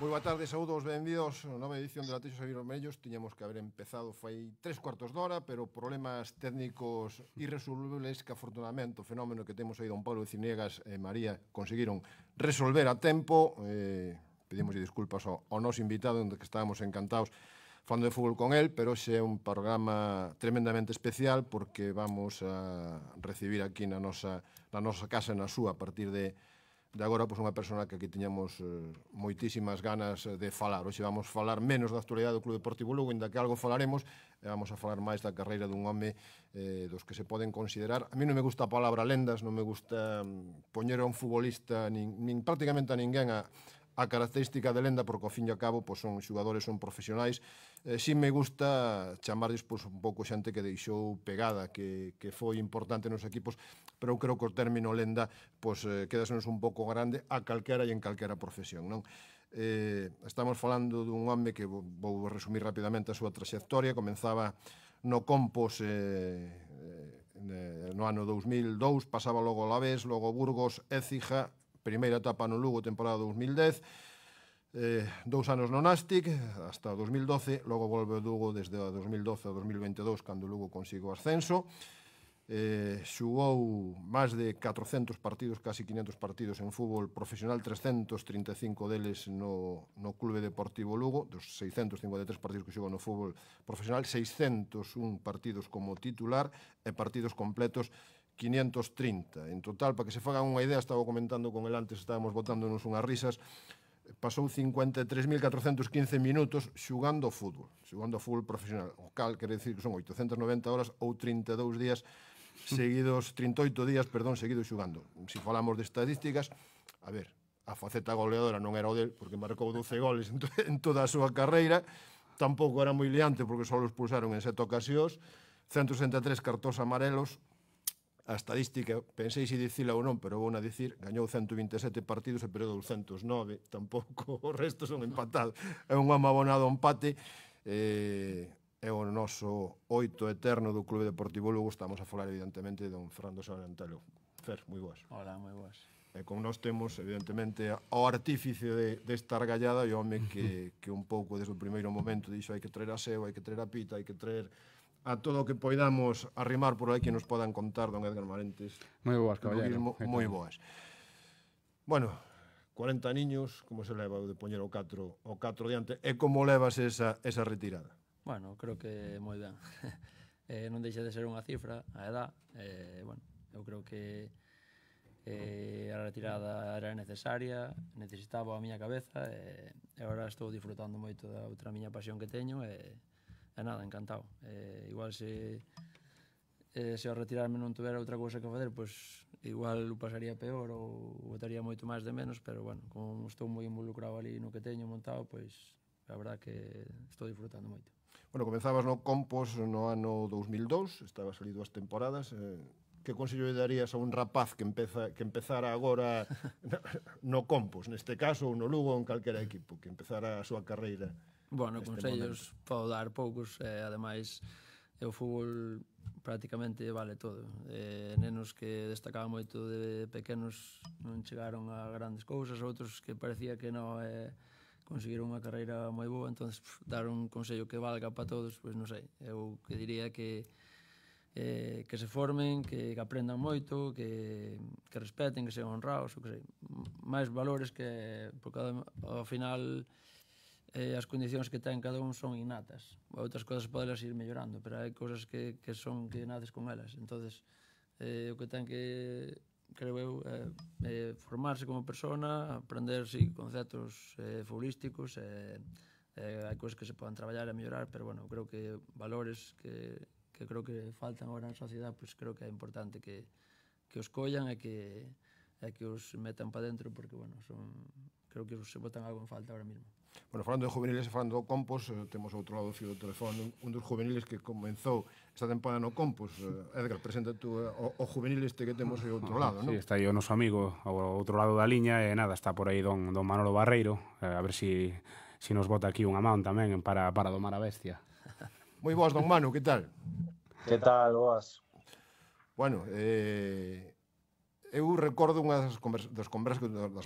Moi boa tarde, saúdos, benvidos a nova edición de Latexos e Vermellos. Tiñamos que haber empezado fai 3 cuartos de hora, pero problemas técnicos irresolubles que afortunadamente o fenómeno que temos aí don Pablo Ciniegas e María conseguiron resolver a tempo. Pedimos disculpas ao noso invitado, onde que estábamos encantados falando de fútbol con él, pero xe é un programa tremendamente especial porque vamos a recibir aquí na nosa casa, na súa, a partir de agora, pois, unha persona que aquí tiñamos moitísimas ganas de falar. Hoxe vamos falar menos da actualidade do Club Deportivo Lugo, inda que algo falaremos, e vamos a falar máis da carreira dun home dos que se poden considerar. A mí non me gusta a palabra lendas, non me gusta poñer a un futbolista, nin prácticamente a ninguén a característica de lenda, porque ao fin e ao cabo pois, son xogadores, son profesionais. Si me gusta chamarles pois, un pouco xente que deixou pegada, que foi importante nos equipos, pero eu creo que o término lenda pois, quedasenos un pouco grande a calquera e en calquera profesión, non? Estamos falando dun home que vou resumir rapidamente a súa traxectoria. Comenzaba no Compos no ano 2002, pasaba logo ao Alavés, logo Burgos, Écija, primeira etapa no Lugo, temporada 2010, 2 anos no Nástic, hasta 2012, logo volve o Lugo desde 2012 a 2022, cando o Lugo consigo o ascenso. Xugou máis de 400 partidos, casi 500 partidos en fútbol profesional, 335 deles no Clube Deportivo Lugo, dos 653 partidos que xogou no fútbol profesional, 601 partidos como titular e partidos completos 530. En total, para que se fagan unha idea, estaba comentando con el antes, estábamos botándonos unhas risas, pasou 53.415 minutos xugando ao fútbol profesional, o cal quere decir que son 890 horas ou 32 días seguidos, 38 días, perdón, seguidos xugando. Se falamos de estadísticas, a ver, a faceta goleadora non era o del, porque marcou 12 goles en toda a súa carreira, tampouco era moi liante, porque só os expulsaron en 7 ocasións, 163 cartóns amarelos. A estadística, pensei se dicila ou non, pero vou a dicir, gañou 127 partidos e perdeu 209, tampouco o resto son empatados. É un home abonado ao empate, é o noso 8 eterno do Clube Deportivo Lugo. Estamos a falar, evidentemente, de don Fernando Sorrentelo. Fer, moi boas. Hola, moi boas. E con nós temos, evidentemente, ao artífice desta argallada e o home que un pouco desde o primeiro momento dixo hai que traer a Seu, hai que traer a Pita, hai que traer a todo o que poidamos arrimar por aí que nos podan contar, don Edgar Marentes. Moi boas, caballero. Moi boas. Bueno, 40 niños, como se leva o de poñer o 4 diante, e como levas esa retirada? Bueno, creo que moi ben. Non deixa de ser unha cifra, a edad. Bueno, eu creo que a retirada era necesaria, necesitaba a miña cabeza, e agora estou disfrutando moito da outra miña pasión que teño, e nada, encantado. Igual se ao retirarme non tuvera outra cousa que facer, pois igual o pasaría peor ou botaría moito máis de menos, pero bueno, como estou moi involucrado ali no que teño montado, pois a verdad que estou disfrutando moito. Bueno, comenzabas no Compos no ano 2002, estabas ali 2 temporadas. Que consello lle darías a un rapaz que empezara agora no Compos, neste caso, ou no Lugo, ou en calquera equipo, que empezara a súa carreira? Bueno, consellos podo dar poucos, ademais o fútbol prácticamente vale todo. Nenos que destacaban moito de pequenos non chegaron a grandes cousas, outros que parecía que non conseguiron unha carreira moi boa, entón dar un consello que valga para todos, pois non sei, eu que diría que se formen, que aprendan moito, que respeten, que sean honrados, o que sei, máis valores que, porque ao final as condicións que ten cada un son innatas. Outras cousas podelas ir mellorando, pero hai cousas que naces con elas. Entonces, o que ten que, creo eu, formarse como persona, aprender, sí, conceptos futbolísticos, hai cousas que se poden traballar e mellorar, pero, bueno, creo que valores que creo que faltan agora na sociedade, pois creo que é importante que os collan e que os metan para dentro, porque, bueno, creo que se botan algo en falta ahora mismo. Bueno, falando de juveniles e falando do Compos, temos outro lado do fio do teléfono, un dos juveniles que comenzou esta temporada no Compos. Edgar, presenta tú o juvenil este que temos aí outro lado, non? Sí, está aí o noso amigo ao outro lado da liña, e nada, está por aí don Manolo Barreiro, a ver si nos bota aquí unha man tamén para domar a bestia. Moi boas, don Manu, que tal? Que tal, boas? Bueno, eu recordo unha das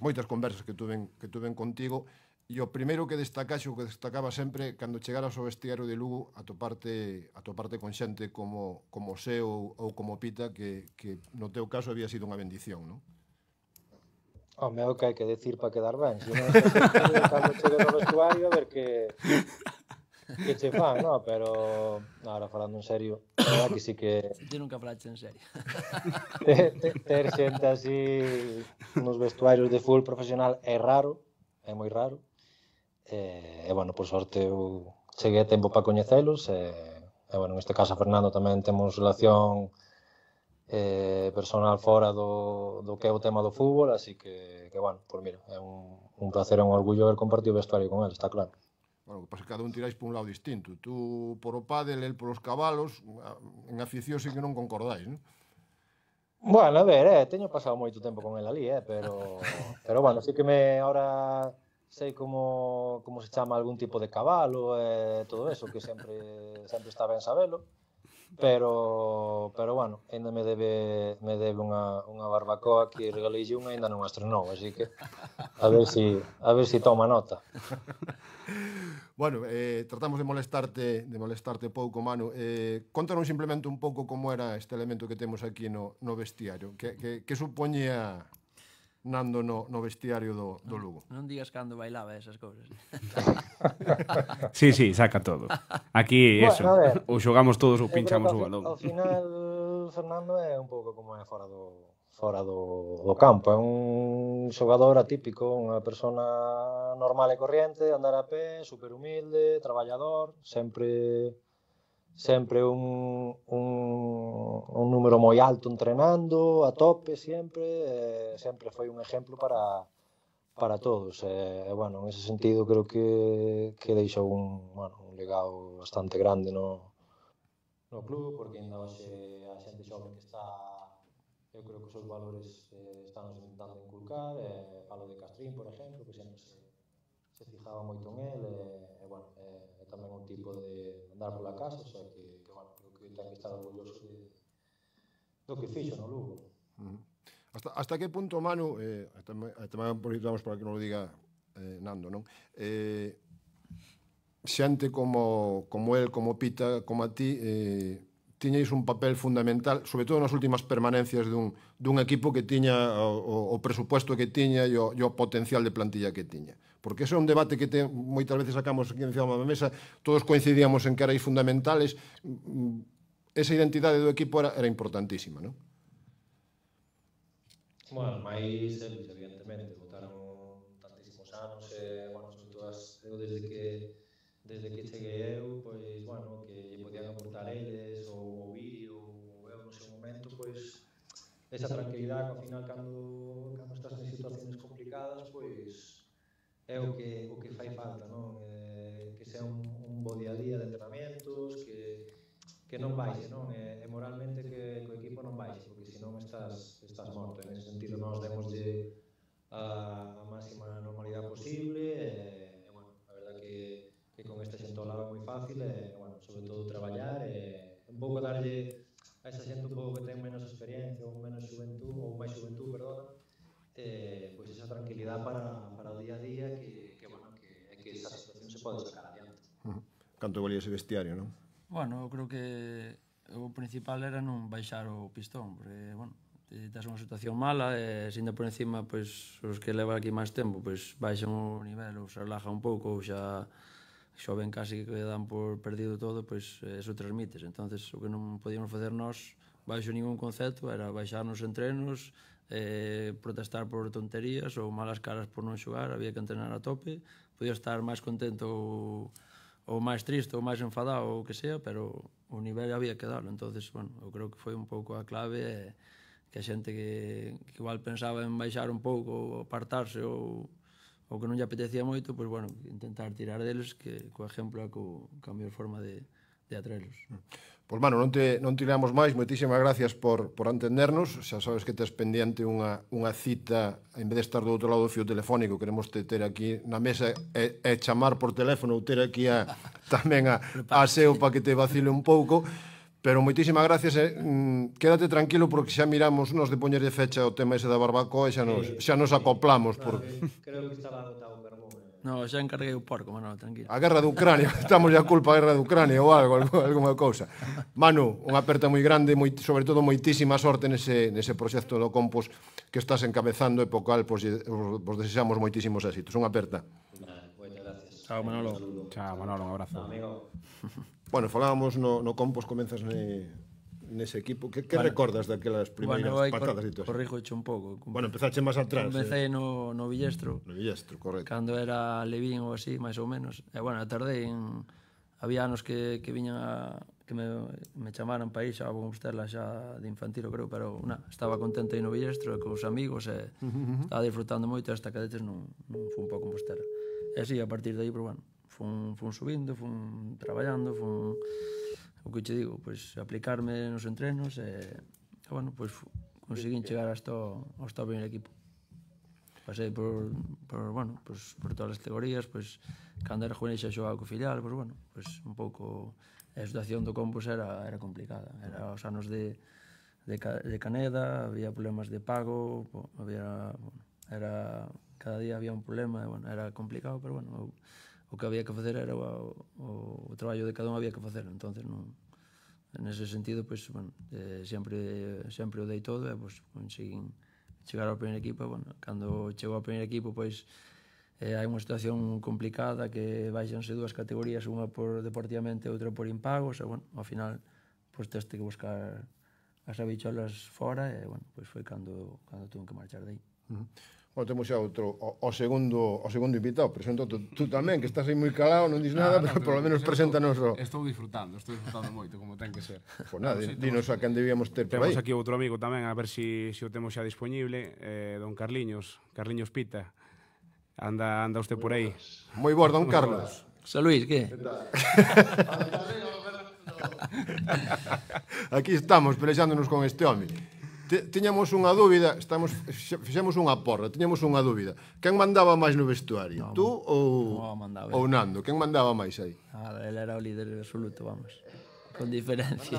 moitas conversas que tuven contigo, E o primeiro que destacaxe, o que destacaba sempre, cando chegaras ao vestiario de Lugo, atoparte con xente como Seo ou como Pita, que no teu caso había sido unha bendición, non? Home, é o que hai que decir para quedar ben. Se non cando chegue no vestuario, a ver que che fan, no? Pero, ahora falando en serio, a verdad que sí que Ti nunca falaste en serio. ter xente así nos vestuarios de fútbol profesional é raro, é moi raro. E, bueno, por sorte eu cheguei a tempo para coñecelos e, bueno, neste caso a Fernando tamén temos relación personal fora do que é o tema do fútbol, así que bueno, pues mira, é un placer e un orgullo haber compartido o vestuario con ele, está claro. Bueno, que pasa que cada un tiráis por un lado distinto. Tú por o pádel, el por os cabalos, en afición sí que non concordáis, non? Bueno, a ver, teño pasado moito tempo con ele ali, pero bueno, sí que ahora sei como se chama algún tipo de cabalo e todo eso, que sempre está ben sabelo, pero bueno, ainda me debe unha barbacoa que regalei unha e ainda non a estrenou, así que a ver si toma nota. Bueno, tratamos de molestarte pouco, Manu. Contanos simplemente un pouco como era este elemento que temos aquí no vestiario. Que supoñía Nando no vestiario do Lugo? Non digas cando bailaba esas cousas. Sí, saca todo. Aquí, Bueno, eso, a ver, ou xogamos todos ou pinchamos o balón. Ao final, Fernando é un pouco como é fora do campo. É un xogador atípico, unha persona normal e corriente, andar a pé, super humilde, traballador, sempre un número moi alto entrenando, a tope sempre foi un exemplo para todos. Bueno, en ese sentido creo que deixou un legado bastante grande no club, porque ainda hoxe a xente xoven que está, eu creo que os seus valores están intentando inculcar. Falo de Castrín, por exemplo, que sempre se fijaba moito en él, e bueno, é tamén un tipo de andar pola casa, o sea que bueno, creo que ten que estar orgulloso do que fixo no Lugo. Hasta que punto, Manu, tamén aproveitamos para que non lo diga Nando, non? Xente como el, como Pita, como a ti, tiñais un papel fundamental, sobre todo nas últimas permanencias dun equipo que tiña o presupuesto que tiña e o potencial de plantilla que tiña. Porque ese é un debate que moitas veces sacamos aquí encima da mesa, todos coincidíamos en que erais fundamentales, esa identidade do equipo era importantísima, non? Bueno, máis eles, evidentemente, botaron tantísimos anos, bueno, sobre todo eu desde que cheguei eu, pois, bueno, que podían aportar eles, ou ouvir, ou eu no seu momento, pois, esa tranquilidade que ao final cando estás en situacións complicadas, pois, é o que fai falta, non? Que sea un bo día a día de entrenamientos, que non baixe, non? E moralmente que o equipo non baixe, porque senón estás morto. En ese sentido, nós demoslle a máxima normalidade posible, e, bueno, a verdad que con esta xente ao lado é moi fácil, e, bueno, sobre todo traballar, e un pouco darlle a esa xente un pouco que ten menos experiencia, ou menos xuventud, ou máis xuventud, perdona, pois esa tranquilidade para o día a día, que bueno, que esa situación se pode sacar adiante. Canto valía ese vestiario, non? Bueno, eu creo que o principal era non baixar o pistón, porque, bueno, estás unha situación mala e sendo por encima, pois, os que levan aquí máis tempo, pois, baixan o nivel ou se relaja un pouco ou xa ven casi que dan por perdido todo, pois, eso transmites. Entonces, o que non podíamos facer nós, baixo ningún concepto, era baixar nos entrenos, protestar por tonterías ou malas caras por non xogar, había que entrenar a tope, podía estar máis contento ou máis triste ou máis enfadado ou o que sea, pero o nivel había que darlo. Entonces, bueno, eu creo que foi un pouco a clave, que a xente que igual pensaba en baixar un pouco ou apartarse ou que non lle apetecía moito, pois, bueno, intentar tirar deles, que co exemplo é co cambio de forma de atraelos. Pois, mano, non tiramos máis. Moitísimas gracias por atendernos. Xa sabes que tes pendiente unha cita, en vez de estar do outro lado do fío telefónico, queremos ter aquí na mesa e chamar por teléfono ou ter aquí tamén a Seo para que te vacile un pouco. Pero moitísimas gracias. Quédate tranquilo porque xa miramos nos de poñerlle fecha o tema ese da barbacoa e xa nos acoplamos. Creo que estaba agotado o carbón. No, xa encarguei o porco, Manolo, tranquilo. A guerra de Ucrania, estamos a culpa a guerra de Ucrania ou algo, alguma cousa. Manu, unha aperta moi grande, sobre todo moitísima sorte nese proxecto do Compos que estás encabezando e po cal vos desexamos moitísimos éxitos. Unha aperta. Moitas gracias. Chao, Manolo. Chao, Manolo, un abrazo. Amigo. Bueno, falábamos no Compos, comenzas nese equipo. Que recordas daquelas primeiras patadas e todo? Corrijoche un pouco. Bueno, empezache máis atrás. Comecei no Villestro. No Villestro, correcto. Cando era Levín ou así, máis ou menos. E, bueno, tardei en... Había anos que viñan que me chamaran para ir xa a Compostela xa de infantilo, creo, pero estaba contento aí no Villestro e cos amigos e estaba disfrutando moito hasta que detes non fun para Compostela. E así, a partir de aí, pero, bueno, fun subindo, fun traballando, o que che digo, pois aplicarme nos entrenos e bueno, pois conseguín chegar hasta o primeiro equipo. Pasei por todas as categorías, pois cando era juvenil xa xogaba co filial, pois bueno, pois un pouco a situación do Compos era complicada. Era os anos de Caneda, había problemas de pago, cada día había un problema, e bueno, era complicado, pero bueno, o que había que facer era o traballo de cada un había que facer, entonces non, nese sentido, pois, bueno, sempre o dei todo e pois conseguín chegar ao primeiro equipo. Bueno, cando chego ao primeiro equipo, pois hai unha situación complicada que baixanse dúas categorías, unha por deportivamente e outra por impagos, e bueno, ao final pois teste que buscar as habicholas fora e bueno, pois foi cando tuve que marchar de aí. Bueno, temos xa o segundo invitado. Presento tú tamén, que estás aí moi calado, non dis nada, pero polo menos preséntanos o... Estou disfrutando moito, como ten que ser. Pois nada, dinos a quen debíamos ter por aí. Temos aquí outro amigo tamén, a ver se o temos xa disponible, don Carliños Pita. Anda usted por aí. Moi boas, don Carlos. José Luis, que? Aquí estamos, pelexándonos con este home. Tiñamos unha dúbida, fixemos unha porra, tiñamos unha dúbida. Quen mandaba máis no vestuario? Tú ou Nando? Quen mandaba máis aí? Ele era o líder absoluto, vamos. Con diferencia.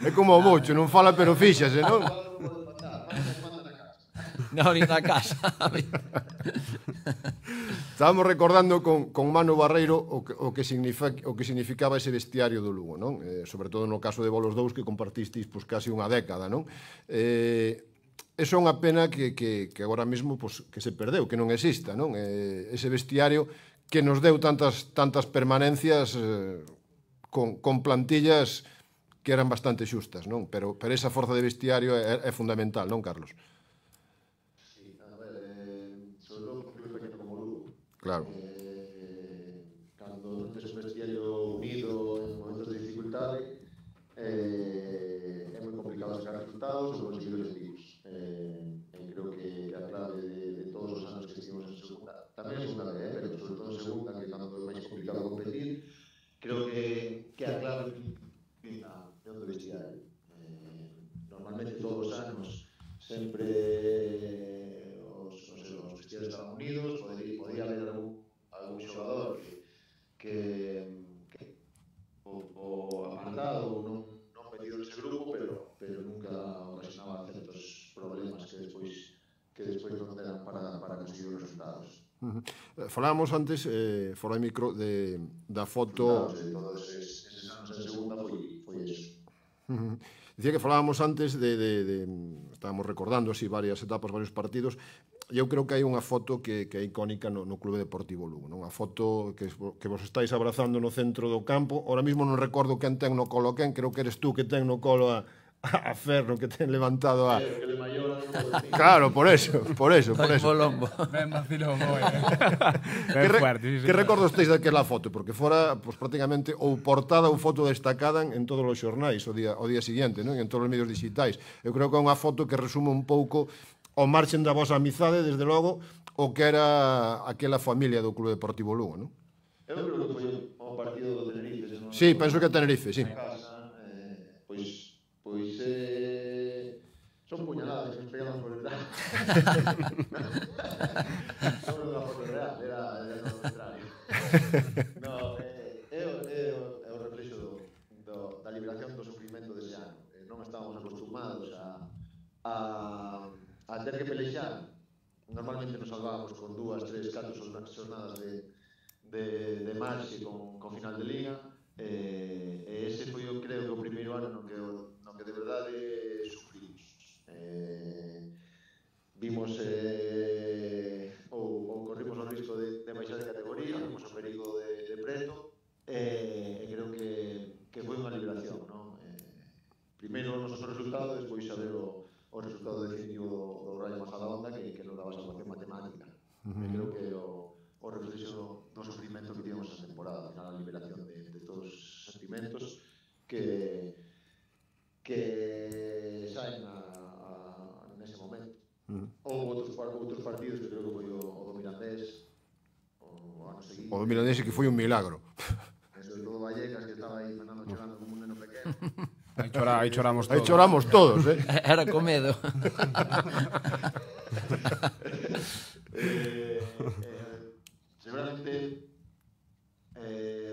É como o Moucho, non fala pero fíxase, non? Non, ni na casa. Estábamos recordando con Manu Barreiro o que significaba ese vestiario do Lugo, non? Sobre todo no caso de Bolos 2, que compartisteis casi unha década, non? Eso é unha pena que agora mesmo que se perdeu, que non exista, non? Ese vestiario que nos deu tantas permanencias con plantillas que eran bastante xustas, non? Pero esa forza de vestiario é fundamental, non, Carlos? Claro. Cando non tes un vestiario unido en momentos de dificultade, é moi complicado sacar resultados ou conseguir objetivos. Creo que a clave de todos os anos que estivemos en segunda, tamén en segunda B, pero sobre todo en segunda, que cando é máis complicado competir, creo que a clave é o vestiario. Normalmente todos os anos sempre os vestiarios estaban unidos, podía haber algún xogador que o apartado ou non metido nese grupo, pero nunca ocasionaba certos problemas que despois non eran para conseguir os resultados. Falábamos antes, fora de micro, da foto... Todos eses anos en segunda foi eso. Dicía que falábamos antes estábamos recordando así varias etapas, varios partidos, e eu creo que hai unha foto que é icónica no Clube Deportivo Lugo, non? Unha foto que vos estáis abrazando no centro do campo. Ahora mismo non recordo quen ten no colo quen, creo que eres tú que ten no colo a Ferro, que ten levantado a... Claro, por eso. Ben vacilón, ben fuerte. Que recordos teis daquela foto? Porque fora prácticamente ou portada ou foto destacada en todos os xornais o día seguinte, non? En todos os medios digitais. Eu creo que é unha foto que resume un pouco o marxen da vosa amizade, desde logo, o que era aquela familia do Clube Deportivo Lugo, non? Eu creo que foi o partido do Tenerife. Sí, penso que é Tenerife, sí. Pois son puñaladas que nos pegamos por detrás. Non era unha foto real, era o contrario. É o reflexo da liberación do sufrimento dese ano. Non estábamos acostumados a ter que pelexar normalmente nos salvábamos con 2, 3, 4 xornadas de marxe con final de liga, e ese foi, eu creo, o primeiro ano no que de verdade sufrimos. Vimos ou corrimos o risco de baixar de categoría, vimos o perigo de preto, e creo que foi unha liberación, non? Primeiro o noso resultado, despois saber o resultado definitivo do Rayo Majadahonda que nos daba salvación matemática. Creo que o reflexo do sufrimento que tivemos esa temporada, a liberación de todos os sentimentos que saen nese momento. Houve outros partidos que creo que foi o do Mirandés, o ano seguinte. O do Mirandés que foi un milagro. E sobre todo Vallecas, que estaba aí Fernando chorando como un neno pequeno. Aí choramos todos. Aí choramos todos, Era con medo. Seguramente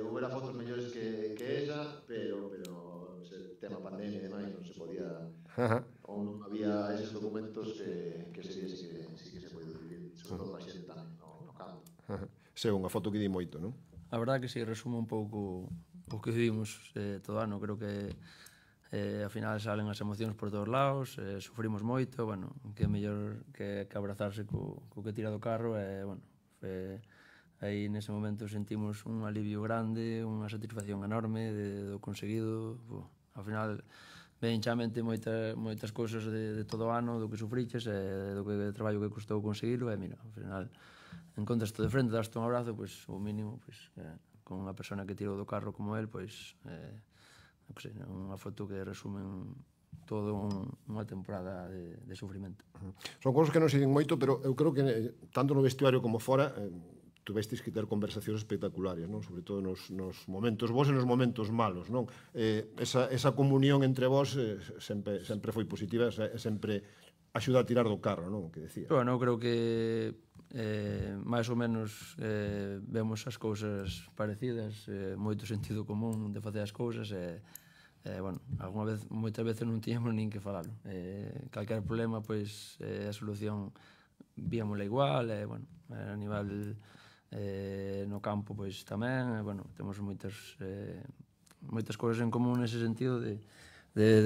houbera fotos mellores que esa, pero el tema pandemia e demais non se podía, ou non había esos documentos que sería sí que se pode vivir, sobre todo a xente tamén no campo. Sí, unha foto que di moito, non? A verdade que si resume un pouco o que vivimos todo ano. Creo que ao final salen as emocións por todos lados, sufrimos moito, bueno, que é mellor que abrazarse co que tira do carro, e, bueno, aí nese momento sentimos un alivio grande, unha satisfacción enorme do conseguido. Ao final ven xa mente moitas cousas de todo o ano, do que sufriches e do que traballo que custou conseguilo, e mira, ao final encontras de frente, daste un abrazo, pois o mínimo, pois con unha persona que tirou do carro como el, pois unha foto que resumen todo unha temporada de sufrimento. Son cousas que non se din moito, pero eu creo que tanto no vestuario como fora tuvestes que ter conversacións espectaculares, non? Sobre todo nos momentos bons e nos momentos malos, non? Esa comunión entre vós sempre foi positiva, sempre axuda a tirar do carro, non? Que decía. Bueno, eu creo que máis ou menos vemos as cousas parecidas, moito sentido común de facer as cousas, e bueno, moitas veces non tiñamos nin que falalo. Calquer problema, pois a solución víamola igual, e bueno, a nivel no campo pois tamén, bueno, temos moitas cousas en común nese sentido de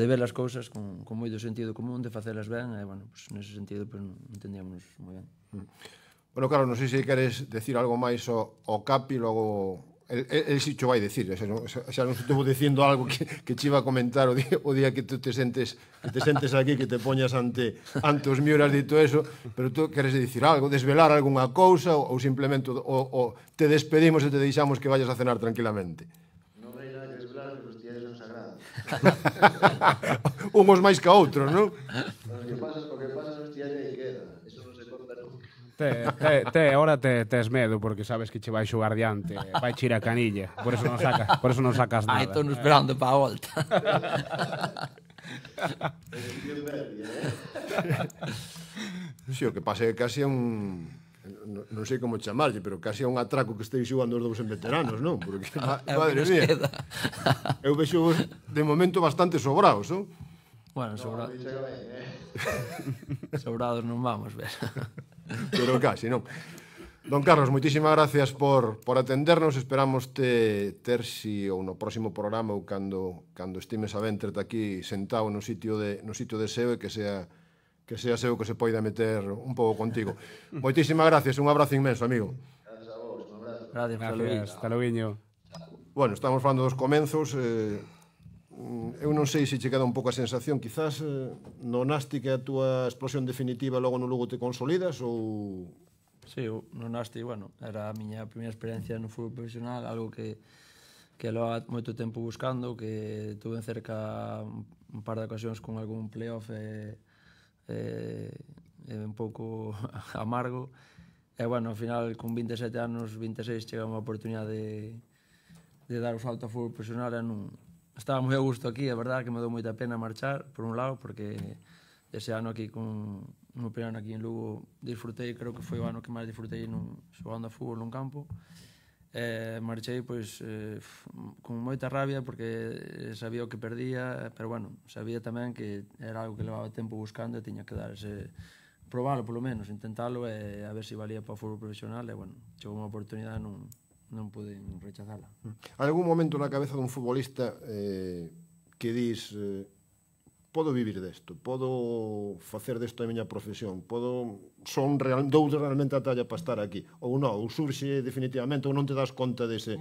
ver as cousas con moito sentido común, de facelas ben, e bueno, pois nese sentido pois entendíamos moi ben. Bueno, Carlos, non sei se queres decir algo máis ao Capi, logo el si cho vai decir, xa non estuvo dicindo algo que che iba a comentar o día que tú te sentes aquí, que te poñas ante os miuras dito eso, pero tú queres dicir algo, desvelar algunha cousa, ou simplemente te despedimos e te deixamos que vayas a cenar tranquilamente? Non hai nada que desvelar, pero os días son sagrados. Unhos máis que outros, non? O que pasa nos días aí queda, eso non se conta nunca. Ahora tes medo porque sabes que che vai xogar diante, vai chir a canilla, por eso non sacas nada. Aí estou esperando para a volta. Si, o que pasa é que casi é un... non sei como chamarlle, pero casi é un atraco que estei xugando os dous en veteranos, non? Porque, madre mía, eu vexo de momento bastante sobrados, non? Bueno, sobrados non vamos ver. Pero casi, non? Don Carlos, moitísimas gracias por atendernos. Esperamos ter si ou no próximo programa ou cando estimes a ventrete aquí sentado no sitio de Seo, e que sea Seo que se poida meter un pouco contigo. Moitísimas gracias, un abrazo inmenso, amigo. Gracias a vos, un abrazo. Gracias, hasta logo. Bueno, estamos falando dos comenzos. Eu non sei se che queda un pouco a sensación, quizás no Nasti, que a túa explosión definitiva, logo no Lugo te consolidas, ou... Sí, no Nasti, bueno, era a miña primeira experiencia no fútbol profesional, algo que leva moito tempo buscando, que tuve cerca un par de ocasións con algún playoff un pouco amargo, e bueno, ao final con 27 anos, 26, chega unha oportunidade de dar o salto ao fútbol profesional, e non... Estaba moi a gusto aquí, é verdade que me dou moita pena marchar, por un lado, porque ese ano aquí, no primeiro ano aquí en Lugo, disfrutei, creo que foi o ano que máis disfrutei xogando a fútbol nun campo. Marchei, pois, con moita rabia, porque sabía o que perdía, pero bueno, sabía tamén que era algo que levaba tempo buscando e tiña que dar ese probalo polo menos, intentalo e a ver se valía para o fútbol profesional e, bueno, chegou unha oportunidade e non pude rechazala. Hai algún momento na cabeza dun futbolista que dis podo vivir desto, podo facer desto a miña profesión, dou realmente a talla para estar aquí, ou non, ou surxe definitivamente, ou non te das conta dese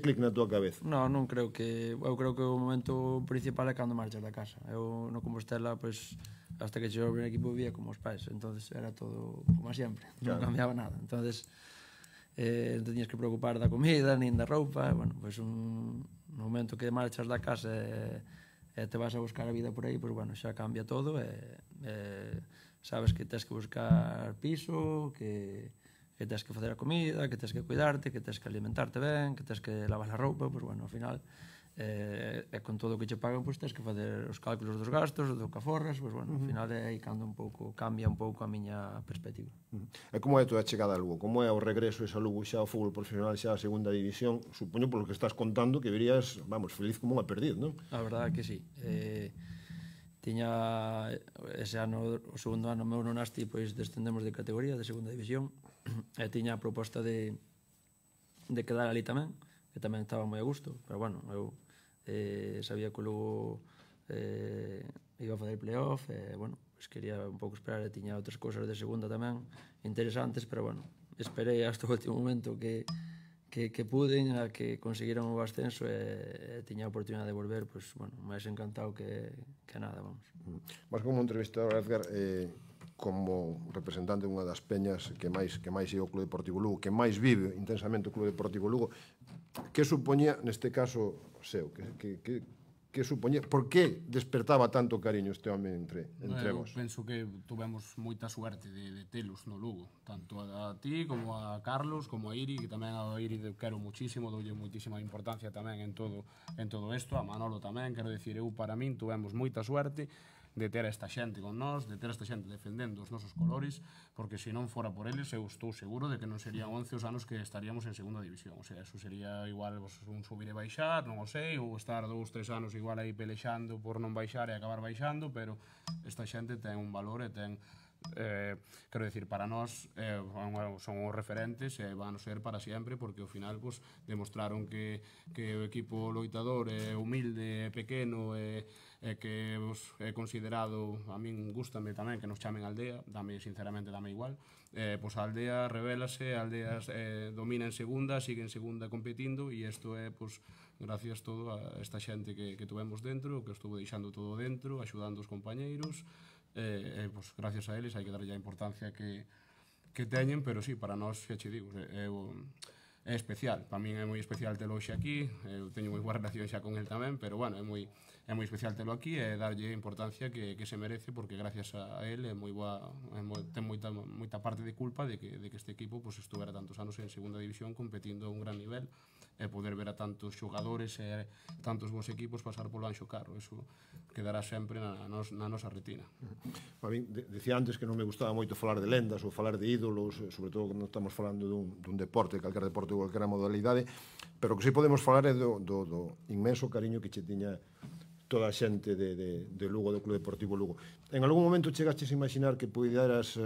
clic na tua cabeza? Non creo que... Eu creo que o momento principal é cando marchas da casa. Eu no Compostela, pois, hasta que chegou o primer equipo vivía como os pais, entonces era todo como sempre, non cambiaba nada. Entonces, non tenías que preocupar da comida, nin da roupa, bueno, pois no momento que marchas da casa e te vas a buscar a vida por aí, pois, bueno, xa cambia todo e sabes que tens que buscar piso, que tens que facer a comida, que tens que cuidarte, que tens que alimentarte ben, que tens que lavar a roupa, pois, bueno, ao final, con todo o que che pagan, pois tens que facer os cálculos dos gastos, do que aforras, pois, bueno, ao final é aí cando cambia un pouco a miña perspectiva. E como é a tua chegada a Lugo? Como é o regreso esa Lugo xa ao fútbol profesional, xa a segunda división? Supoño polo que estás contando que verías, vamos, feliz como unha perdiz, non? A verdade é que sí. Tiña ese ano, o segundo ano meu no Nasti, pois descendemos de categoría, de segunda división, e tiña a proposta de quedar ali tamén, que tamén estaba moi a gusto, pero bueno, eu sabía que logo iba a fazer playoff, e bueno, pues quería un pouco esperar, e tiña outras cousas de segunda tamén interesantes, pero bueno, esperei hasta o último momento que puden, a que conseguiran o ascenso e tiña a oportunidade de volver, pois, bueno, máis encantado que nada, vamos. Mas como entrevistador, Edgar, como representante dunha das peñas que máis é o Club Deportivo Lugo, que máis vive intensamente o Club Deportivo Lugo, que supoñía, neste caso seu, que supoñía, por que despertaba tanto cariño este home entre vos? Eu penso que tuvemos moita suerte de telos no Lugo, tanto a ti como a Carlos, como a Iri, que tamén a Iri quero muchísimo, doulle moitísima importancia tamén en todo isto, a Manolo tamén, quero dicir, eu para min tuvemos moita suerte de ter esta xente con nós, de ter esta xente defendendo os nosos colores, porque se non fora por eles, eu estou seguro de que non serían 11 os anos que estaríamos en segunda división. O sea, eso sería igual un subir e baixar, non o sei, ou estar 2-3 anos igual aí pelexando por non baixar e acabar baixando, pero esta xente ten un valor e ten quero dicir, para nós son os referentes e van a ser para sempre, porque ao final demostraron que o equipo loitador é humilde, é pequeno e que é considerado, a min gústame tamén que nos chamen aldea, sinceramente dame igual, pois a aldea revélase, a aldea domina en segunda, sigue en segunda competindo, e isto é gracias todo a esta xente que tuvemos dentro, que estuvo deixando todo dentro, axudando os compañeiros, gracias a eles hai que darlle a importancia que teñen, pero sí, para nós, xa che digo, é especial, para min é moi especial telo hoxe aquí, eu teño moi boa relación xa con el tamén, pero bueno, é moi especial telo aquí e darlle a importancia que se merece, porque gracias a él ten moita parte de culpa de que este equipo estuvera tantos anos en segunda división competindo a un gran nivel e poder ver a tantos xogadores e tantos bons equipos pasar polo Anxo Carro, eso quedará sempre na nosa retina. A mí, dicía antes que non me gustaba moito falar de lendas ou falar de ídolos, sobre todo cando estamos falando dun deporte, calquera deporte ou calquera modalidade, pero que si podemos falar é do inmenso cariño que che tiña toda a xente de Lugo, do Club Deportivo Lugo. En algún momento chegastes a imaginar que puderas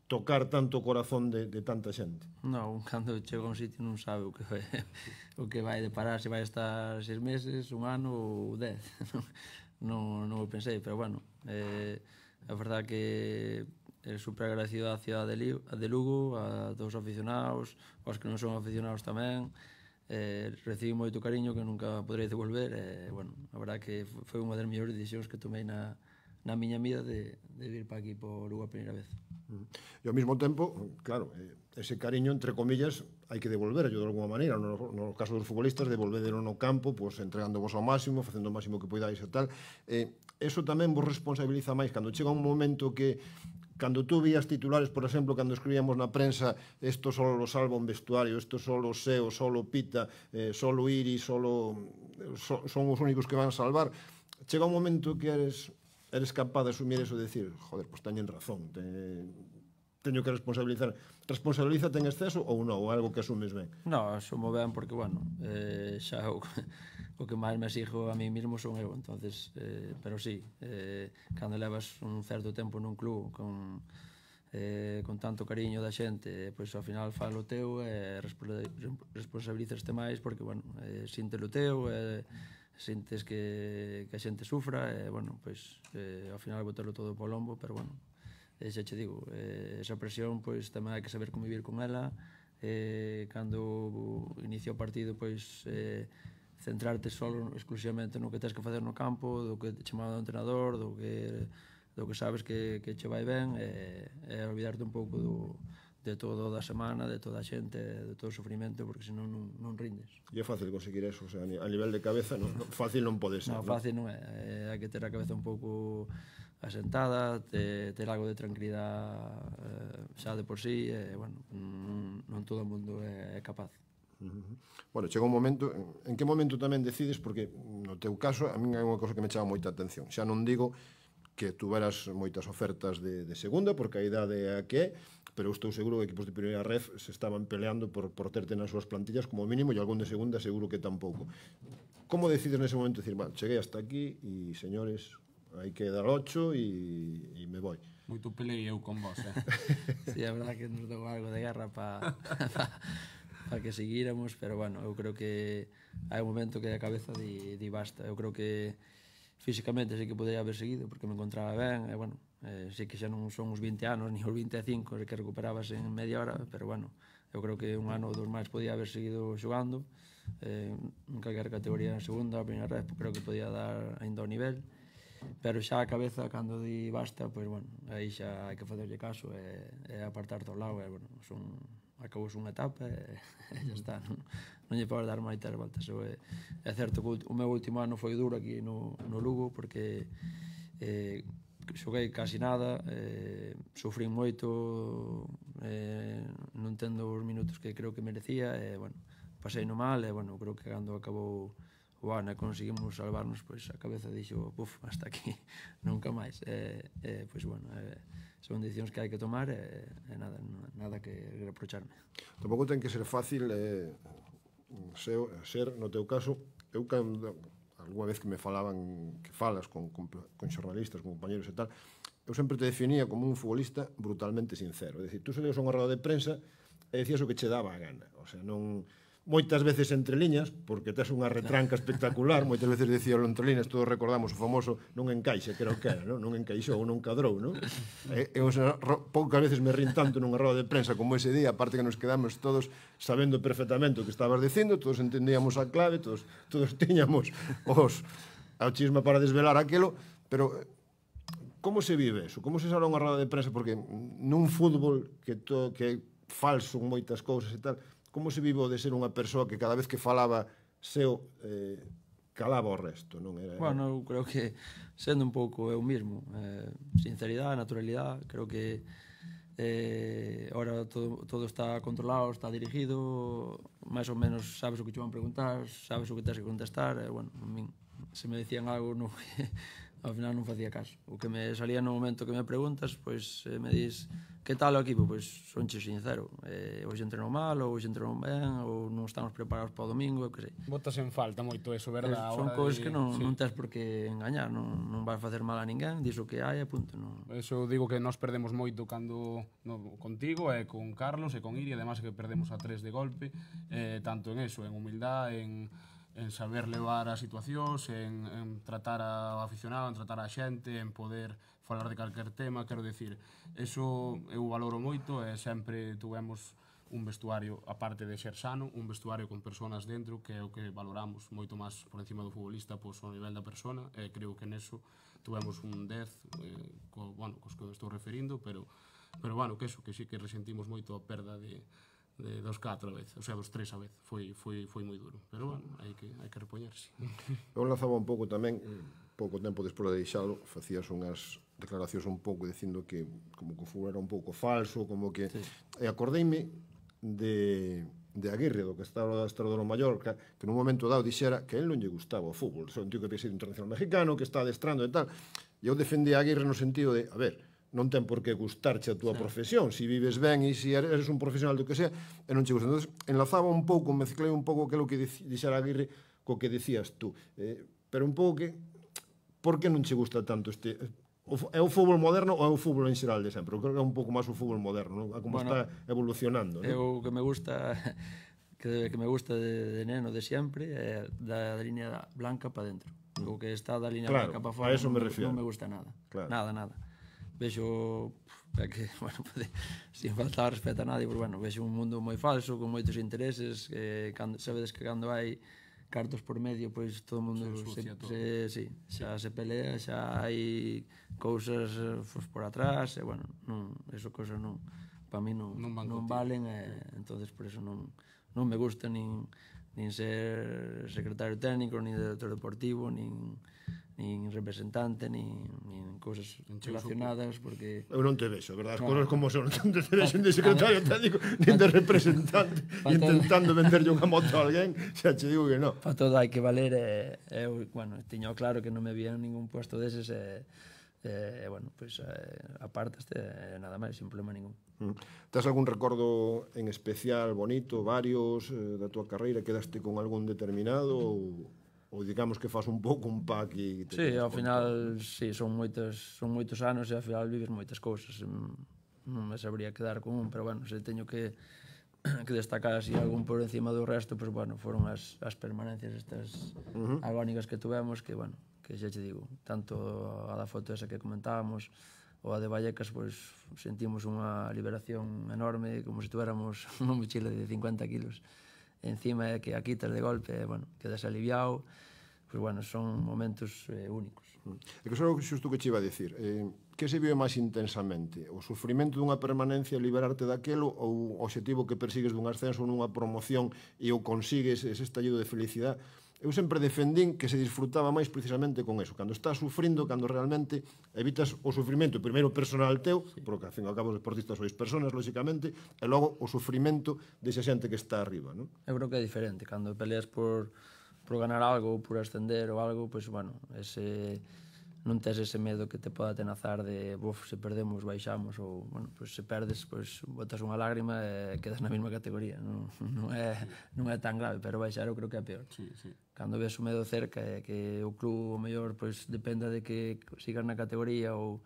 tocar tanto o corazón de tanta xente? Non, cando chega a un sitio non sabe o que vai deparar, se vai estar 6 meses, un ano ou 10. Non o pensei, pero bueno, a verdade que é super agradecido á cidade de Lugo, a todos os aficionados, aos que non son aficionados tamén, recibi moito cariño que nunca poderei devolver, e, bueno, a verdade que foi unha das mellores decisións que tomei na miña vida de vir para aquí, por Lugo a primeira vez. E ao mesmo tempo, claro, ese cariño, entre comillas, hai que devolverlo de alguma maneira. No caso dos futbolistas, devolverlo no campo, entregándovos ao máximo, facendo o máximo que poidáis e tal. Eso tamén vos responsabiliza máis cando chega un momento que, cando tú vías titulares, por exemplo, cando escribíamos na prensa, esto solo lo salva un vestuario, esto solo Seo, solo Pita, solo Iri, son os únicos que van a salvar, chega un momento que eres capaz de asumir eso e decir, joder, pois teñen razón, teño que responsabilizar. Responsabilízate en exceso ou non, ou algo que asumes ben? Non, asumo ben porque, bueno, xa o que máis me exijo a mí mismo son eu, entonces, pero sí, cando levas un certo tempo nun club con con tanto cariño da xente, pois ao final falo teu e responsabilízaste máis porque, bueno, sintes o teu, sintes que a xente sufra e, bueno, pois ao final botelo todo po lombo, pero, bueno, xa che digo, esa presión, pois tamén hai que saber convivir con ela. Cando inicia o partido, pois centrarte solo exclusivamente no que tens que facer no campo, do que te chamado do entrenador, do que sabes que che vai ben, e olvidarte un pouco de todo da semana, de toda a xente, de todo o sofrimento, porque senón non rindes. E é fácil conseguir eso, o sea, a nivel de cabeza, fácil non pode ser. Non, fácil non é, hai que ter a cabeza un pouco asentada, ter algo de tranquilidade xa de por sí, e, bueno, non todo o mundo é capaz. Bueno, chega un momento, en que momento tamén decides, porque no teu caso a min hai unha cosa que me chama moita atención, xa non digo que tuveras moitas ofertas de segunda, porque a idade é a que é, pero estou seguro que equipos de primeira ref se estaban peleando por terte nas súas plantillas como mínimo, e algún de segunda seguro que tampouco. Como decides nese momento decir, cheguei hasta aquí e, señores, hai que dar 8 e me voy? Moito pelei eu con vos, Sí, a verdade que nos dou algo de guerra para que seguíramos, pero, bueno, eu creo que hai un momento que a cabeza di basta. Eu creo que físicamente sí que podría haber seguido porque me encontraba ben, e, bueno, sí que xa non son uns 20 anos ni os 25 que recuperabas en media hora, pero, bueno, eu creo que un ano ou dos máis podía haber seguido xogando en calquer categoría en segunda, a primeira red, creo que podía dar ainda o nivel, pero xa a cabeza cando di basta, pois, bueno, aí xa hai que facerlle caso e apartarte ao lado, e, bueno, acabou unha etapa e xa está, non lle podes dar moitas voltas. É certo que o meu último ano foi duro aquí no Lugo, porque xoguei casi nada, sufrín moito, non tendo os minutos que creo que merecía, e, bueno, pasei no mal, e, bueno, creo que cando acabou o ano e conseguimos salvarnos, pois a cabeza dixo, hasta aquí, nunca máis. Pois, bueno, son decisións que hai que tomar e nada que reprocharme. Tampouco ten que ser fácil ser, no teu caso, eu cando alguna vez que me falaban, que falas con xornalistas, con compañeros e tal, eu sempre te definía como un futbolista brutalmente sincero. É dicir, tú salías a unha roda de prensa e decías o que che daba a gana. O sea, non... Moitas veces entre liñas, porque tes unha retranca espectacular, moitas veces dicíalo entre liñas, todos recordamos o famoso non encaixe, que era o que era, non encaixou, non cadrou, non? Poucas veces me rin tanto nunha roda de prensa como ese día, aparte que nos quedamos todos sabendo perfectamente o que estabas dicindo, todos entendíamos a clave, todos tiñamos a chisma para desvelar aquilo, pero como se vive eso? Como se sale unha roda de prensa? Porque nun fútbol que é falso en moitas cousas e tal, como se vive de ser unha persoa que cada vez que falaba seu calaba o resto, non era? Bueno, eu creo que sendo un pouco eu mismo, sinceridade, naturalidade, creo que ahora todo está controlado, está dirigido, máis ou menos sabes o que te van preguntar, sabes o que tens que contestar, e, bueno, a min, se me decían algo ao final non facía caso. O que me salía no momento que me preguntas, pois me dis que tal o equipo, pois sonche sincero. Hoxe entrenou mal, ou hoxe entrenou ben, ou non estamos preparados para o domingo, o que sei. Botas en falta moito eso, verdad? Son cousas que non tens por que engañar, non vas facer mal a ninguén, dis o que hai e punto. Eso digo que nós perdemos moito cando contigo e con Carlos e con Iri, además que perdemos a 3 de golpe, tanto en eso, en humildade, en saber levar as situacións, en tratar ao aficionado, en tratar a xente, en poder falar de calquer tema, quero decir, eso eu valoro moito e sempre tuvemos un vestuario, aparte de ser sano, un vestuario con persoas dentro, que é o que valoramos moito máis por encima do futbolista, pois ao nivel da persona, e creo que neso tuvemos un 10, cos que estou referindo, pero bueno, que eso, que sí que resentimos moito a perda dos 4 a vez, o sea, dos 3 a vez, foi moi duro, pero bueno, hai que repoñerse. Eu lanzaba un pouco tamén, pouco tempo despois de deixalo, facías unhas declaracións un pouco dicindo que como que o fútbol era un pouco falso, como que... E acordeime de Aguirre, do que estaba adestrador no Mallorca, que nun momento dado dixera que a él non lle gustaba o fútbol, son un tío que había sido internacional mexicano, que está adestrando e tal, e eu defendí a Aguirre no sentido de, a ver, non ten por que gustarche a túa profesión, se vives ben e se eres un profesional do que sea, e non che gusta. Entón, enlazaba un pouco, mezclei un pouco aquilo que dixera Aguirre co que decías tú, pero un pouco que, por que non che gusta tanto é o fútbol moderno ou é o fútbol en xeral de sempre? Eu creo que é un pouco máis o fútbol moderno, non? Como está evolucionando, non? Eu que me gusta que me gusta de neno de sempre é da línea blanca para dentro. O que está da línea blanca para fora non me gusta nada. Nada. Vexo que, bueno, sin faltar respeto a nadie, pero bueno, vexo un mundo moi falso, con moitos intereses, sabedes que cando hai cartos por medio, pois todo o mundo xa se pelea, xa hai cousas por atrás, e bueno, eso cousas non, para mí non valen, entonces por eso non me gusta nin ser secretario técnico, nin director deportivo, nin representante, nin cousas relacionadas, porque... Eu non te vexo, verdad? As cousas como son, non te vexo de secretario técnico, nin de representante, intentando venderlle unha moto a alguén, xa che digo que non. Para todo hai que valer, eu, bueno, tiño claro que non me vía ningún puesto deses, bueno, pois apartaste, nada máis, sin problema ningún. Tes algún recordo en especial, bonito, varios, da túa carreira? Quedaste con algún determinado ou digamos que faz un pouco un pack e... Sí, ao final, sí, son moitos anos e ao final vives moitas cousas. Non me sabría quedar con un, pero bueno, se teño que destacar así algún por encima do resto, pues bueno, foron as permanencias estas agónicas que tuvemos, que bueno, que xa che digo, tanto a da foto esa que comentábamos ou a de Vallecas, pois sentimos unha liberación enorme, como se tuéramos unha mochila de 50 kilos encima, que a quitas de golpe, bueno, quedas aliviado. Pois bueno, son momentos únicos. E que só xusto que che iba a dicir, que se vive máis intensamente? O sufrimento dunha permanencia, liberarte daquelo, ou o obxectivo que persigues dun ascenso nunha promoción e o consigues ese estallido de felicidade? Eu sempre defendín que se disfrutaba máis precisamente con eso, cando estás sufrindo, cando realmente evitas o sufrimento, primeiro personal teu, porque ao fin e ao cabo os deportistas sois personas, lóxicamente, e logo o sufrimento desa xente que está arriba, non? Eu creo que é diferente, cando peleas por ganar algo ou por ascender ou algo, pois bueno, non tes ese medo que te poda atenazar de se perdemos, baixamos, ou, bueno, pois se perdes, pois botas unha lágrima e quedas na mesma categoría. Non é tan grave, pero baixar eu creo que é peor. Cando ves o medo cerca e que o club o mellor pois dependa de que sigas na categoría ou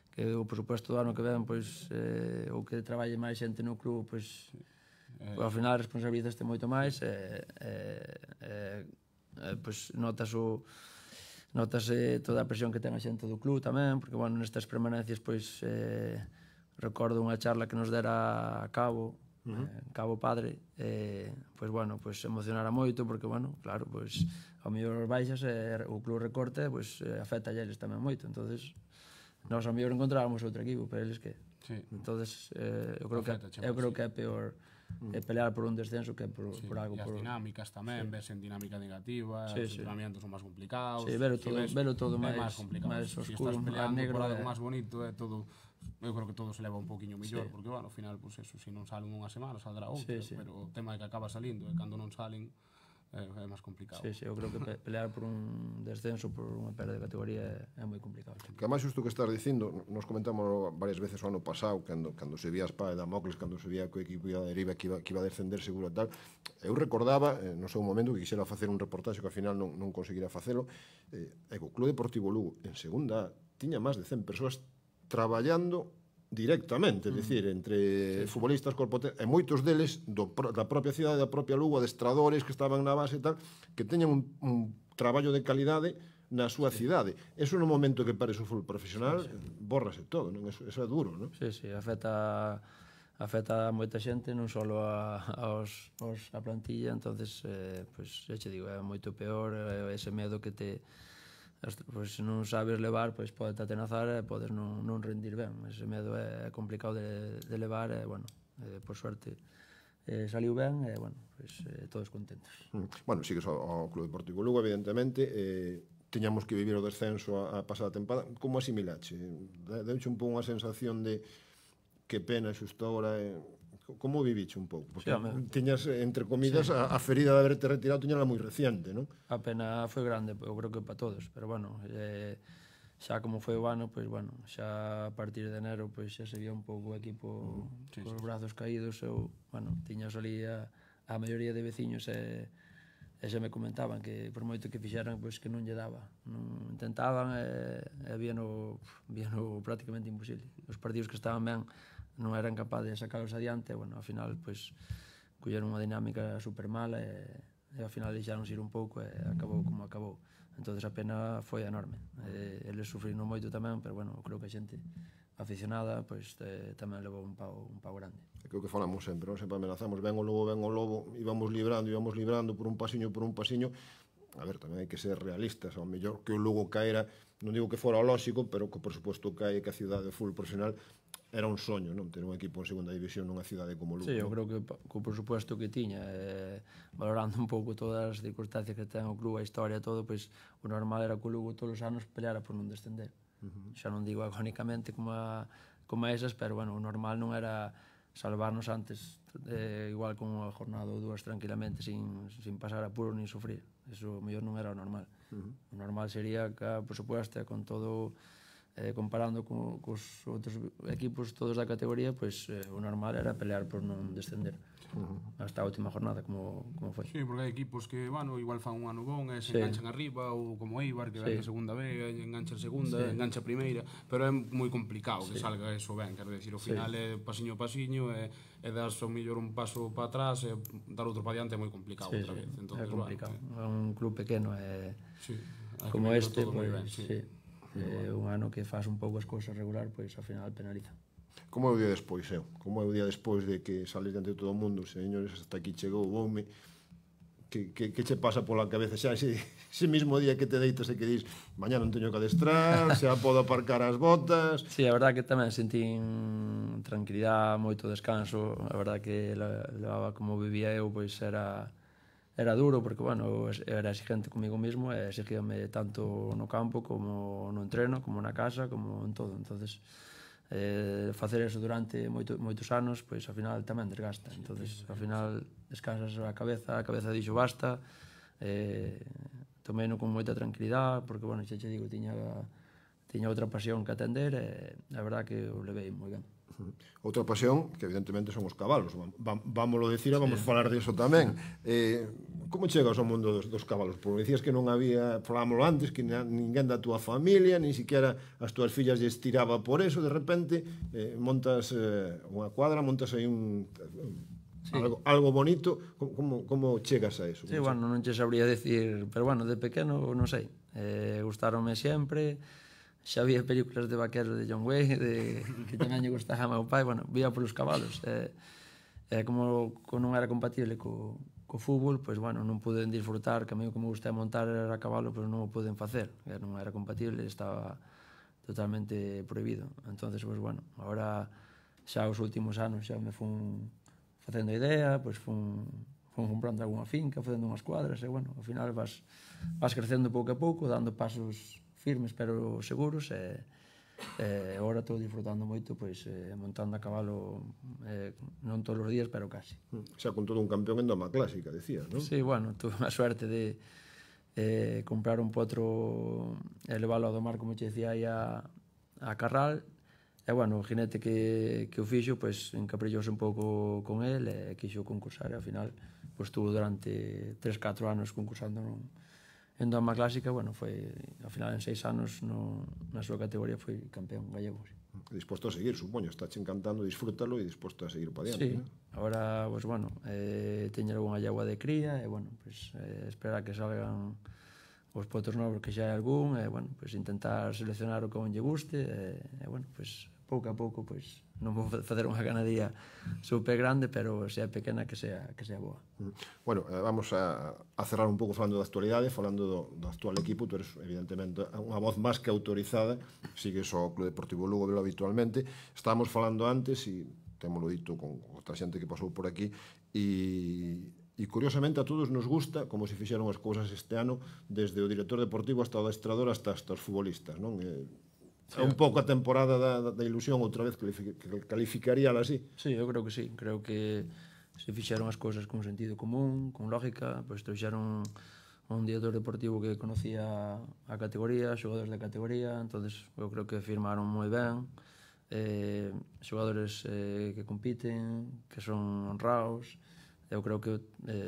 que o presupuesto do ano que ven pois ou que traballe máis xente no club, pois ao final responsabilizaste moito máis pois notase toda a presión que ten a xente do club tamén, porque, bueno, nestas permanencias, pois, recordo unha charla que nos dera a Cabo Padre, pois, bueno, pois emocionara moito, porque, bueno, claro, pois, ao mellor baixas e o club recorte, pois, afecta a eles tamén moito, entonces nós ao mellor encontrábamos outro equipo, pero eles que? Entonces, eu creo que é peor pelear por un descenso que por algo. E as dinámicas tamén, ves en dinámica negativa, os entrenamientos son máis complicados. Sí, velo todo máis oscuro, estás peleando por algo máis bonito, é todo, eu creo que todo se leva un poquinho mellor, porque, bueno, ao final, pues eso, se non salen unha semana, saldrá outra, pero o tema é que acaba salindo, e cando non salen, é máis complicado. Sí, eu creo que pelear por un descenso, por unha perda de categoría é moi complicado. Que máis xusto que estás dicindo, nos comentamos varias veces o ano pasado, cando se vía a espada de Damocles, cando se vía que o equipo iba a deriva, que iba a descender seguro e tal, eu recordaba, no seu momento, que quixera facer un reportaxe que ao final non conseguira facelo, e o Club Deportivo Lugo, en segunda, tiña máis de 100 persoas traballando directamente, é dicir, entre futbolistas, corpo e moitos deles da propia cidade, da propia Lugo, adestradores que estaban na base e tal, que teñan un traballo de calidade na súa cidade. Eso no momento que pares o fútbol profesional, bórrase todo, non? Eso é duro, non? Sí, afecta a moita xente, non só a plantilla, entonces, pois, xa che digo, é moito peor ese medo que te... Pois se non sabes levar, pois pode te atenazar e podes non rendir ben. Ese medo é complicado de levar e, bueno, por suerte saliu ben e, bueno, pois todos contentos. Bueno, sigues ao Club Deportivo Lugo, evidentemente, tiñamos que vivir o descenso a pasada tempada. Como asimilache? Deuche un pouco unha sensación de que pena xusto agora... Como viviche un pouco? Porque tiñas, entre comidas, a ferida de haberte retirado tiñala moi reciente, non? A pena foi grande, eu creo que para todos, pero, bueno, xa como foi o ano, pois, bueno, xa a partir de enero, pois xa se vía un pouco o equipo cos brazos caídos, eu, bueno, tiñas ali a maioría de veciños e xa me comentaban que por moito que fixeran, pois que non lle daba. Non intentaban e víano prácticamente imposible. Os partidos que estaban ben non eran capaces de sacalos adiante, e, bueno, ao final, pois, colleron unha dinámica super mala e ao final deixaron ir un pouco e acabou como acabou. Entón a pena foi enorme. Eles sufriron moito tamén, pero bueno, creo que a xente aficionada pois tamén levou un pau grande. É que o que falamos sempre, non? Sempre amenazamos, ven o lobo, íbamos librando por un pasiño. A ver, tamén hai que ser realistas, ao mellor que o Lugo caera, non digo que fora o lóxico, pero que por suposto que a cidade de fútbol profesional era un soño, non? Ter un equipo en segunda división nunha cidade como Lugo. Sí, eu creo que por suposto que tiña, valorando un pouco todas as circunstancias que ten o club, a historia, todo, pois o normal era que o Lugo todos os anos peleara por non descender. Xa non digo agónicamente como a esas, pero bueno, o normal non era salvarnos antes, igual con unha jornada ou dúas tranquilamente, sin pasar apuro nin sufrir. Eso mellor non era o normal. O normal sería que, por suposto, con todo, comparando cos outros equipos todos da categoría, pois o normal era pelear por non descender hasta a última jornada, como foi. Sí, porque hai equipos que, bueno, igual fan un ano bon e se enganchan arriba, ou como Eibar, que ven a segunda B, engancha a segunda, engancha a primeira, pero é moi complicado que salga eso ben, quero decir, o final é pasiño a pasiño e das o mellor un paso para atrás e dar outro para diante é moi complicado outra vez. É complicado, é un club pequeno e como este, pois, un ano que faz un pouco as cousas regular, pois ao final penaliza. Como é o día despois, Como é o día despois de que sales diante de todo o mundo, señores, hasta aquí chegou o home, que che pasa pola cabeza xa ese mismo día que te deitas e que dis, mañá non teño que adestrar, xa podo aparcar as botas... Sí, a verdad que tamén sentín tranquilidade, moito descanso, a verdad que levaba como vivía eu, pois era duro, porque, bueno, era exigente comigo mismo e exigíame tanto no campo como no entreno, como na casa, como en todo. Entonces, facer eso durante moitos anos, pois ao final tamén desgasta. Entonces, ao final descansas a cabeza dixo basta, tomeino con moita tranquilidade, porque, bueno, xa che digo, tiña outra pasión que atender e a verdad que o levei moi ben. Outra pasión, que evidentemente son os cabalos, vámoslo decir e vamos falar disso tamén. Como chegas ao mundo dos cabalos? Porque dicías que non había, falámoslo antes, que ninguén da túa familia, ni siquiera as túas fillas lles tiraba por eso, de repente montas unha cuadra, montas aí algo bonito. Como chegas a eso? Sí, bueno, non che sabría decir, pero bueno, de pequeno, non sei, gustaronme sempre, xa había películas de vaqueros de John Wayne, que tamén lle gustaba a meu pai, bueno, vía polos cabalos, como non era compatible co fútbol, pois, bueno, non puden disfrutar, que a mí o que me gusta montar era a cabalo, pero non o puden facer, non era compatible, estaba totalmente prohibido. Entonces, pois, bueno, agora xa os últimos anos xa me fun facendo idea, pois fun comprando algunha finca, facendo unhas cuadras, e, bueno, ao final vas crecendo pouco a pouco, dando pasos firmes pero seguros, e agora estou disfrutando moito, pois, montando a cabalo, non todos os días, pero casi. Xa con todo un campeón en doma clásica, decías, non? Sí, bueno, tuve a suerte de comprar un potro e leválo a domar, como che decía, aí a Carral, e, bueno, o jinete que o fixo, pois, encaprillouse un pouco con el e quixo concursar, e ao final, pois, estuvo durante 3-4 anos concursando en doma clásica, bueno, foi, ao final, en 6 anos, na súa categoría, foi campeón gallego. Disposto a seguir, supoño, estáche encantando disfrútalo e disposto a seguir para diante. Sí, agora, pois, bueno, teño algunha yegua de cría, e, bueno, pois, esperar que salgan os potros novos, que xa hai algún, e, bueno, pois, intentar seleccionar o que lle guste, e, bueno, pois, pouco a pouco, pois, non vou facer unha ganadería super grande, pero se é pequena que sea boa. Bueno, vamos a cerrar un pouco falando da actualidade, falando do actual equipo. Tu eres, evidentemente, unha voz máis que autorizada, sigues o Club Deportivo Lugo habitualmente. Estábamos falando antes, e témolo dito con outra xente que pasou por aquí, e curiosamente a todos nos gusta como se fixeron as cousas este ano, desde o director deportivo hasta o adestrador hasta os futbolistas, non? É un pouco a temporada da ilusión, outra vez, que calificaríala así. Sí, eu creo que sí. Creo que se fixeron as cousas con sentido común, con lógica, pois trouxeron un director deportivo que conocía a categoría, xogadores da categoría, entonces eu creo que firmaron moi ben, xogadores que compiten, que son honrados, eu creo que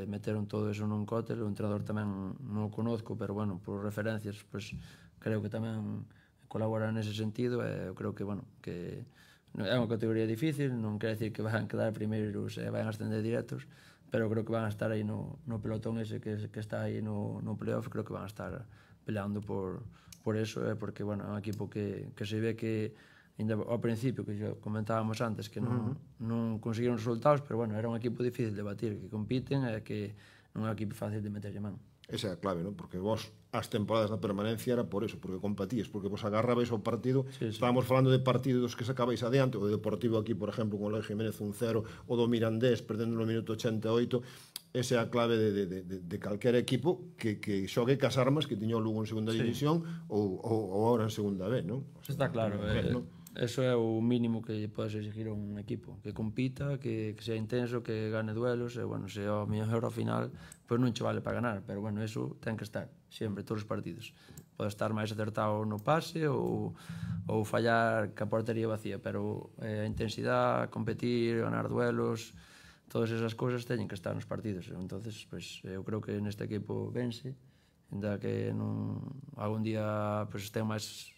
meteron todo eso nun cóctel, o entrenador tamén non o conozco, pero bueno, por referencias, pues, creo que tamén colabora nese sentido, e eu creo que, bueno, que é unha categoría difícil, non quere decir que van quedar primeiros e van a ascender directos, pero creo que van a estar aí no pelotón ese que está aí no playoff, creo que van a estar peleando por eso, porque, bueno, é un equipo que se ve que ao principio, que xa comentábamos antes, que non conseguiron resultados, pero, bueno, era un equipo difícil de batir, que compiten e que non é un equipo fácil de meterlle man. Esa é a clave, non? Porque vos as temporadas na permanencia era por eso, porque competías, porque vos agarrabais ao partido. Estábamos falando de partidos que sacabais adiante, o Deportivo aquí, por exemplo, con o Loi Jiménez 1-0, o do Mirandés perdendo no minuto 88. Esa é a clave de calquer equipo que xogue cas armas que tiña o Lugo en segunda división ou agora en segunda B, non? Está claro, eso é o mínimo que podes exigir a un equipo, que compita, que sea intenso, que gane duelos, e, bueno, se ao mellor ao final, pois non che vale para ganar, pero, bueno, eso ten que estar, sempre, todos os partidos. Pode estar máis acertado no pase ou fallar ca portería vacía, pero a intensidade, competir, ganar duelos, todas esas cousas teñen que estar nos partidos. Entonces, pues, eu creo que neste equipo vence, ainda que algún día pues, ten máis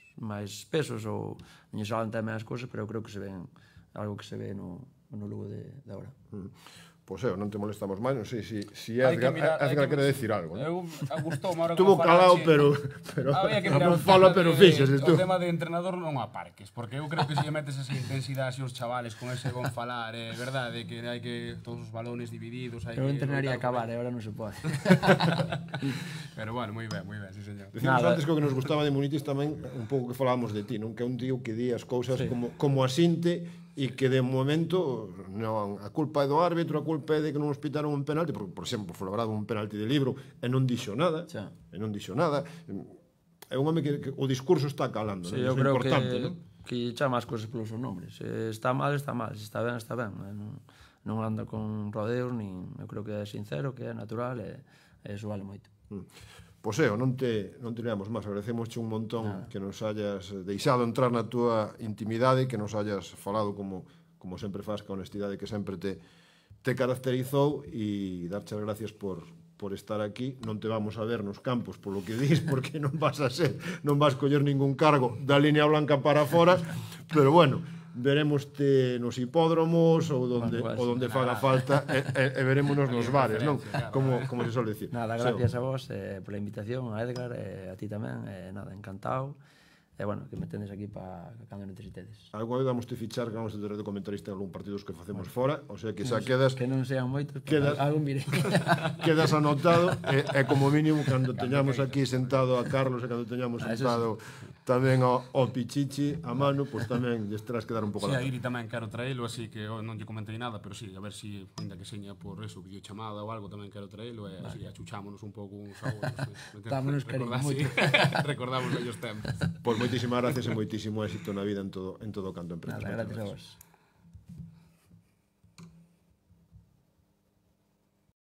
pesos ou non saben tamén as cousas, pero eu creo que se ven algo que se ve no Lugo de agora. Pois non te molestamos máis, non sei se Edgar quere decir algo. Eu gustoume ahora Estuvo calado, pero non fala, pero fíxese tú. O tema de entrenador non aparques, porque eu creo que se metes esa intensidade así os chavales con ese bon falar, é verdade que hai que todos os balones divididos, hai que... Eu entrenaría a acabar, agora non se pode. Pero bueno, moi ben, sí señor. Decimos antes que o que nos gustaba de Munitis tamén un pouco que falábamos de ti, non? Que é un tío que di as cousas como asinte e que de momento non, a culpa é do árbitro, a culpa é de que non nos pitaron un penalti, porque, por exemplo, foi labrado un penalti de Libro e non dixo nada, é un home que o discurso está calando, sí, non? Eu creo importante, que chama as cousas pelos seus nombres, se está mal, está mal, se está ben, está ben, non anda con rodeos, nin, eu creo que é sincero, que é natural, e eso vale moito. Pois non te leamos máis, agradecemosche un montón que nos hayas deixado entrar na túa intimidade, que nos hayas falado como sempre faz, que a honestidade que sempre te caracterizou, e darche as gracias por estar aquí. Non te vamos a ver nos campos polo que dis, porque non vas coller ningún cargo da línea blanca para fora, pero bueno, veremoste nos hipódromos ou donde faga falta, e verémonos nos bares, non? Como se suele decir. Nada, gracias a vos pola invitación, a Edgar, a ti tamén, nada, encantado. E, bueno, que me tendes aquí para cando necesitedes. Alguna vez vamos te fichar que vamos a ter de comentarista en algún partidos que facemos fora, o sea que xa quedas... Que non sean moitos, pero algún miré. Quedas anotado, e como mínimo, cando teñamos aquí sentado a Carlos, e cando teñamos sentado tamén ao Pichichi, a Manu, pois tamén lles terás que dar un pouco a la... Sí, a Iri tamén quero traelo, así que non lle comentei nada, pero sí, a ver si, ainda que seña por eso, videochamada ou algo, tamén quero traelo, e así achuchámonos un pouco uns a outros. Dámonos cariño moito. Recordamos vellos tempos. Pois moitísimas gracias e moitísimo éxito na vida en todo canto empresa. Nada, gracias a vos.